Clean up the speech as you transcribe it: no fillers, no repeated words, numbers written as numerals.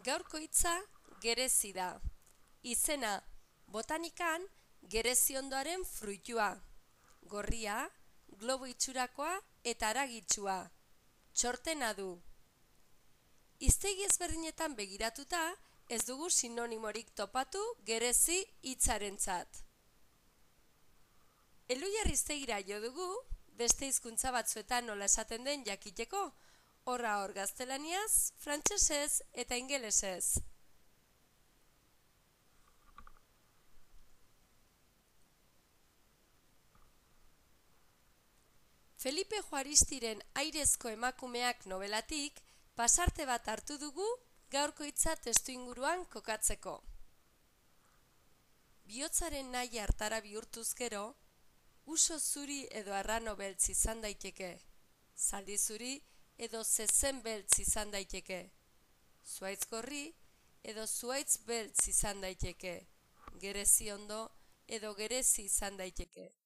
Gaurko hitza gerezi da. Izena botanikan gereziondoaren fruitua. Gorria, globo itxurakoa eta haragitsua. Txortena du. Hiztegi ezberdinetan begiratuta, ez dugu sinonimorik topatu gerezi hitzarentzat. Elhuyar hiztegira jo dugu, beste hizkuntza batzuetan nola esaten den jakiteko, horra hor gaztelaniaz, frantsesez eta ingelesez. Felipe Juaristiren Airezko emakumeak nobelatik pasarte bat hartu dugu gaurko hitza testuinguruan kokatzeko. Bihotzaren nahi hartara bihurtuz gero, uso zuri edo arrano beltz izan daiteke, zaldi zuri edo zezen beltz izan daiteke, zuhaitz gorri edo zuhaitz beltz izan daiteke, gerezi ondo edo gerezi izan daiteke.